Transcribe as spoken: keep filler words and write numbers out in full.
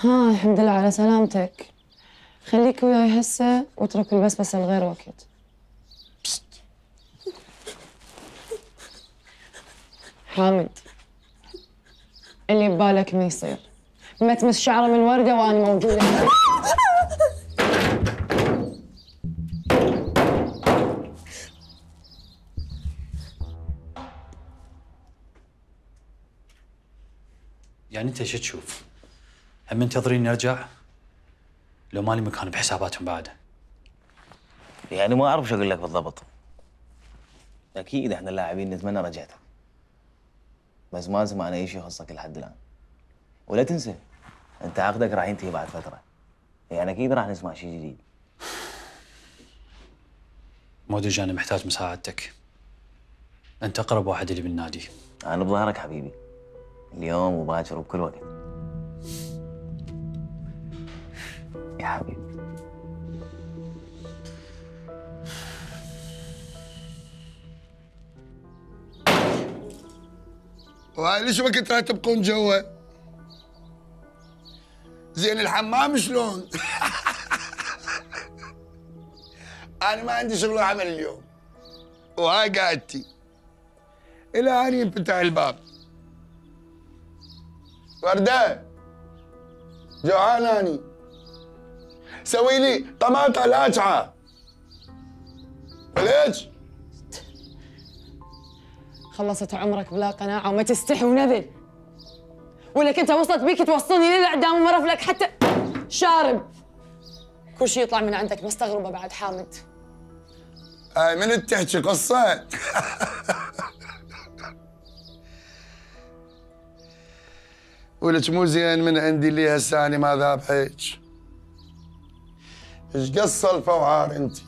ها الحمد لله على سلامتك. خليك وياي هسه واترك البسبسة لغير وقت. حامد، اللي ببالك ما يصير. ما تمس شعره من وردة وأنا موجودة. يعني انت شو تشوف؟ هم منتظرين نرجع؟ لو مالي مكان بحساباتهم بعد. يعني ما اعرف شو اقول لك بالضبط. اكيد احنا اللاعبين نتمنى رجعتك، بس ما سمعنا اي شيء يخصك لحد الان. ولا تنسى انت عقدك راح ينتهي بعد فتره، يعني اكيد راح نسمع شيء جديد. مودج انا محتاج مساعدتك. انت اقرب واحد لي بالنادي. انا بظهرك حبيبي، اليوم وباكر وبكل وقت. يا حبيبي. وهاي ليش ما كنت راح تبقون جوا؟ زين الحمام شلون؟ أنا ما عندي شغل وعمل اليوم، وهاي قعدتي إلى أن ينفتح الباب. وردة جوعان أني، سوي لي طماطة لاجعة. وليش؟ خلصت عمرك بلا قناعة وما تستحي ونذل. ولك انت وصلت بيك توصلني للإعدام وما رفلك حتى شارب. كل شيء يطلع من عندك مستغربة بعد حامد. هاي من تحكي قصة؟ ولك مو زين من عندي اللي هسه أنا ما ذابحك. ايش قصة الفوعار انتي؟